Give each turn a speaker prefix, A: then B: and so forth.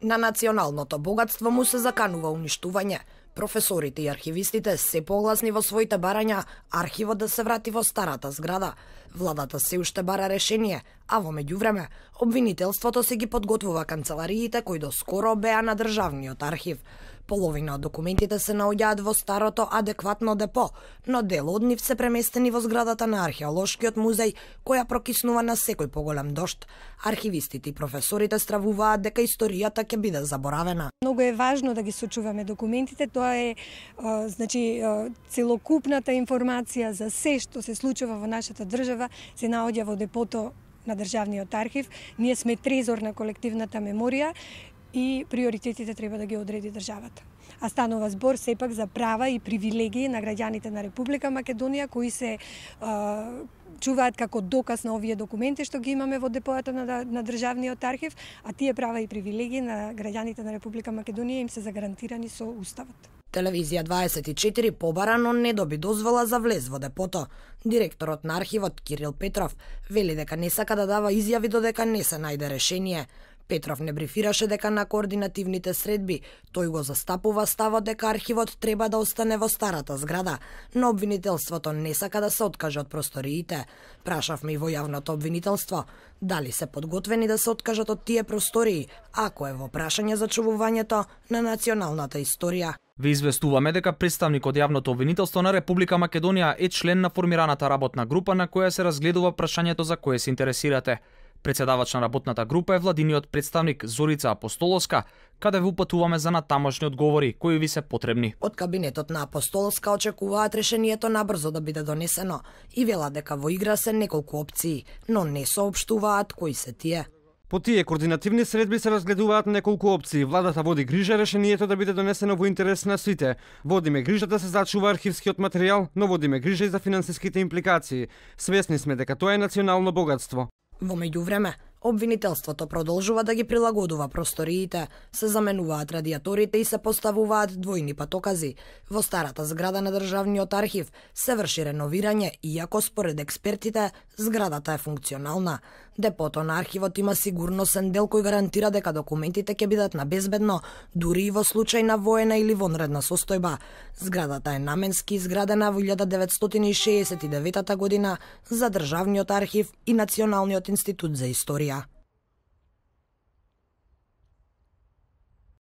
A: На националното богатство му се заканува уништување. Професорите и архивистите се погласни во своите барања архивот да се врати во старата зграда. Владата се уште бара решение, а во меѓувреме обвинителството се ги подготвува канцелариите кои доскоро беа на државниот архив. Половина од документите се наоѓаат во старото адекватно депо, но дел од нив се преместени во зградата на археолошкиот музеј, која прокиснува на секој поголем дожд. Архивистите и професорите стравуваат дека историјата ќе биде заборавена.
B: Многу е важно да ги сочуваме документите, тоа е целокупната информација за се што се случува во нашата држава се наоѓа во депото на државниот архив. Ние сме трезор на колективната меморија и приоритетите треба да ги одреди државата. А станува збор сепак за права и привилегии на граѓаните на Република Македонија кои се чуваат како доказ на овие документи што ги имаме во депоата на државниот архив, а тие права и привилегии на граѓаните на Република Македонија им се загарантирани со уставот.
A: Телевизија 24 побара, но не доби дозвола за влез во депото. Директорот на архивот Кирил Петров вели дека не сака да дава изјави додека не се најде решение. Петров не брифираше дека на координативните средби тој го застапува ставот дека архивот треба да остане во старата зграда, но обвинителството не сака да се откаже од просториите. Прашавме и во јавното обвинителство дали се подготвени да се откажат од тие простории, ако е во прашање за чувувањето на националната историја.
C: Ви известуваме дека представник од јавното обвинителство на Република Македонија е член на формираната работна група на која се разгледува прашањето за кое се интересирате. Председавач на работната група е владиниот представник Зорица Апостоловска, каде ви упатуваме за натамошни одговори кои ви се потребни.
A: Од кабинетот на Апостоловска очекуваат решението набрзо да биде донесено и велат дека во игра се неколку опции, но не соопштуваат кои се тие.
D: По тие координативни средби се разгледуваат неколку опции. Владата води грижа решението да биде донесено во интерес на сите. Водиме грижа да се зачува архивскиот материјал, но водиме грижа и за финансиските импликации. Свесни сме дека тоа е национално богатство.
A: Во меѓувреме, обвинителството продолжува да ги прилагодува просториите, се заменуваат радиаторите и се поставуваат двојни патокази. Во старата зграда на државниот архив се врши реновирање, иако според експертите зградата е функционална. Депото на архивот има сигурносен дел кој гарантира дека документите ќе бидат на безбедно, дури и во случај на воена или вонредна состојба. Зградата е наменски изградена во 1969 година за државниот архив и Националниот институт за историја.